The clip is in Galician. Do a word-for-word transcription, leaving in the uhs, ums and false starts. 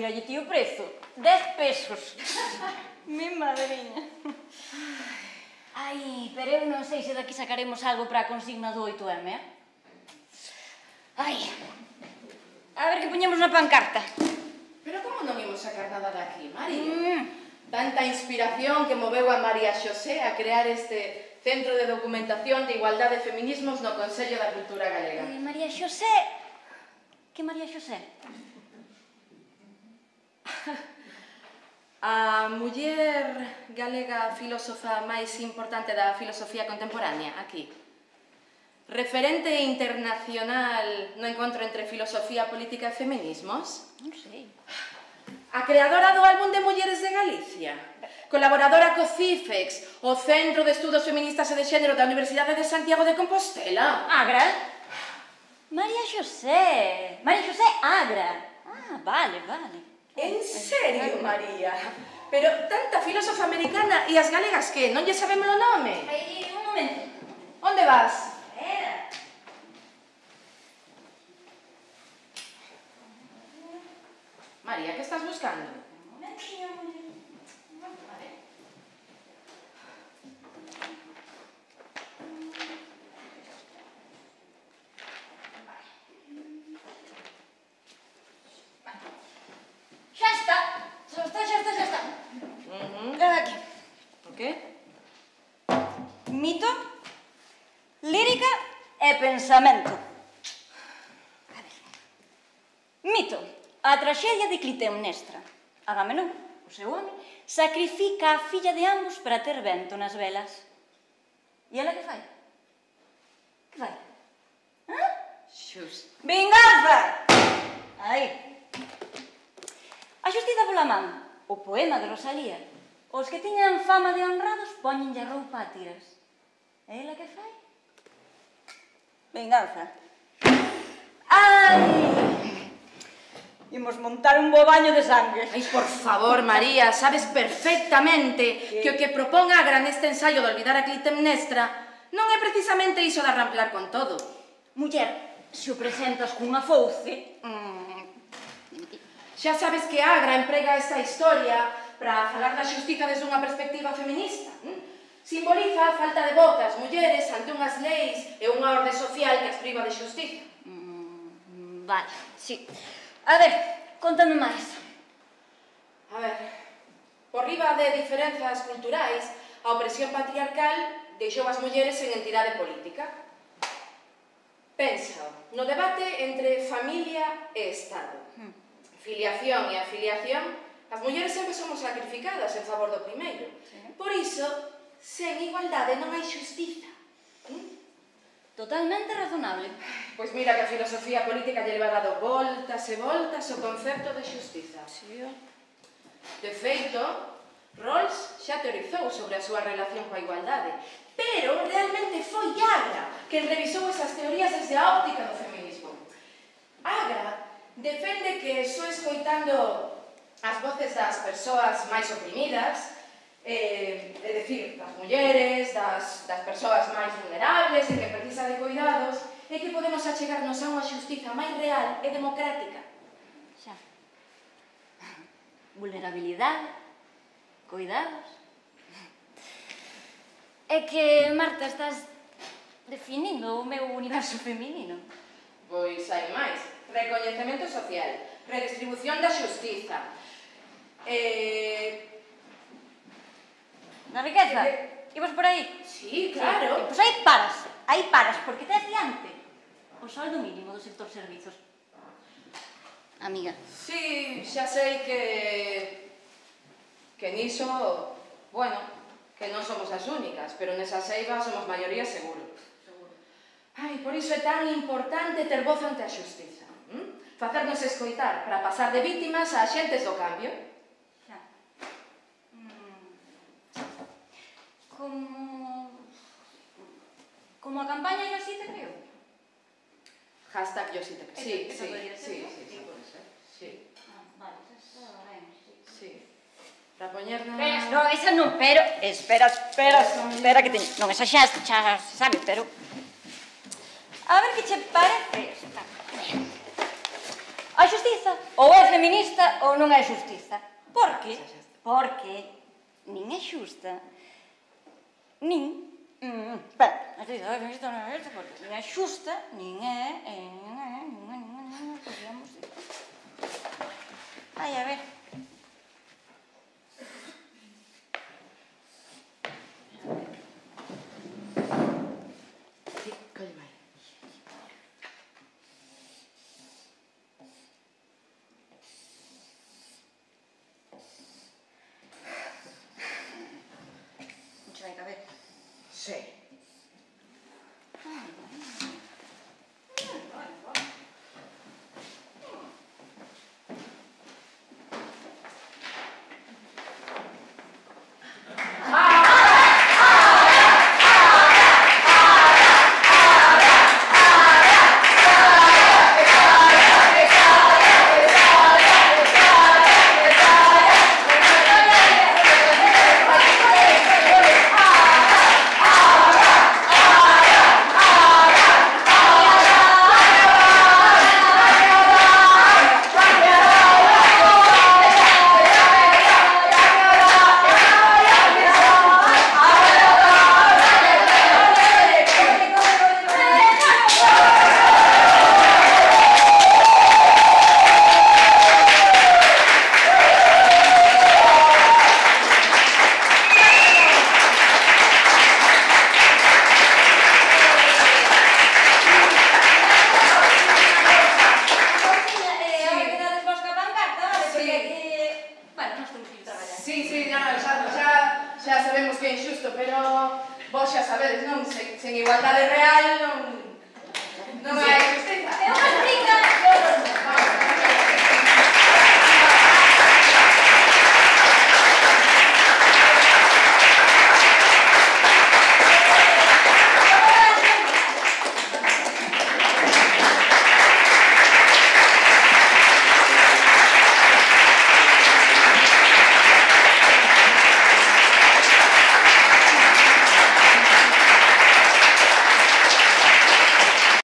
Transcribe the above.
dígalle ti o prezo. Dez pesos. Mi madriña. Ai, pero eu non sei se daqui sacaremos algo para a consigna do oito eme, eh? Ai, a ver que poñemos na pancarta. Pero como non imos sacar nada daqui, María? Tanta inspiración que moveu a María Xosé a crear este Centro de Documentación de Igualdade e Feminismos no Consello da Cultura Galega. María Xosé... Que María Xosé? A muller galega filósofa máis importante da filosofía contemporánea, aquí. Referente internacional no encontro entre filosofía política e feminismos. Non sei. A creadora do álbum de Mulleres de Galicia. Colaboradora co CIFEX, o Centro de Estudos Feministas e de Xénero da Universidade de Santiago de Compostela. Agra? María Xosé. María Xosé Agra. Ah, vale, vale. En serio, María? Pero tanta filósofa americana e as galegas que non lle sabemos o nome? Ai, un momento. Onde vas? Espera. María, que estás buscando? Un momentinho, muller. Vale. Xa está. Xa está, xa está, xa está. Ven aquí. O que? Mito, lírica e pensamento. A ver. Mito. A traxedia de Clitemnestra. Agamenón, o seu home, sacrifica a filla de ambos para ter vento nas velas. E ela que fai? Que fai? Hã? Xus. Vinganza! Aí. A xustiza pola man. O poema de Rosalía. Os que tiñan fama de honrados poñenlle a roupa a tiras. E ela que fai? Vinganza. Ai! Imos montar un bo baño de sangue. Ai, por favor, María, sabes perfectamente que o que propón Agra neste ensaio de olvidar a Clitemnestra non é precisamente iso de arramplar con todo. Muller, se o presentas cunha fouce... Xa sabes que Agra emprega esta historia para falar da xustiza desde unha perspectiva feminista. Simboliza a falta de voz das mulleres ante unhas leis e unha orde social que as priva de xustiza. Vale, sí. A ver, contame máis. A ver, por riba de diferenzas culturais, a opresión patriarcal deixou as mulleres en entidade política. Pensa no debate entre familia e Estado. Filiación e afiliación, as mulleres sempre somos sacrificadas en favor do primeiro. Por iso, sen igualdade non hai xustiza. Totalmente razonable. Pois mira que a filosofía política lle leva dado voltas e voltas o concepto de xustiza. De feito, Rawls xa teorizou sobre a súa relación coa igualdade, pero realmente foi Agra quen revisou esas teorías desde a óptica do feminismo. Agra defende que só escoitando as voces das persoas máis oprimidas, é dicir, das mulleres, das persoas máis vulnerables e que precisa de cuidados, é que podemos achegarnos a unha xustiza máis real e democrática. Xa. Vulnerabilidade, cuidados... É que, Marta, estás definindo o meu universo feminino. Pois hai máis. Recoñecemento social, redistribución da xustiza, eh... Na riqueza? Ibas por aí? Sí, claro. Pois aí paras, aí paras, porque tes diante o soldo mínimo do sector servizos. Amiga. Sí, xa sei que... que niso, bueno, que non somos as únicas, pero nesa seiva somos maioría seguro. Ai, por iso é tan importante ter voz ante a xustiza. Facernos escoitar para pasar de vítimas a axentes do cambio. Xa. Como... como a campaña Yo sí te creo. Hashtag Yo sí te creo. Sí, sí, sí, sí, pode ser. Sí. Vale, xa está ben, sí. Sí. Para poñernos... Non, esa non, pero... Espera, espera, espera que teño... Non, esa xa se sabe, pero... A ver que che parece esta. A xustiza ou é feminista ou non é xustiza. Por que? Porque nin é xusta, nin... Espera, a xustiza é feminista ou non é xusta, porque nin é xusta, nin é... Nin é... Nin é... Nin é... Podríamos dir... Ai, a ver... Sí. Xa sabemos que é injusto, pero vos xa sabedes, non? Sen igualdade real non... non hai justiza.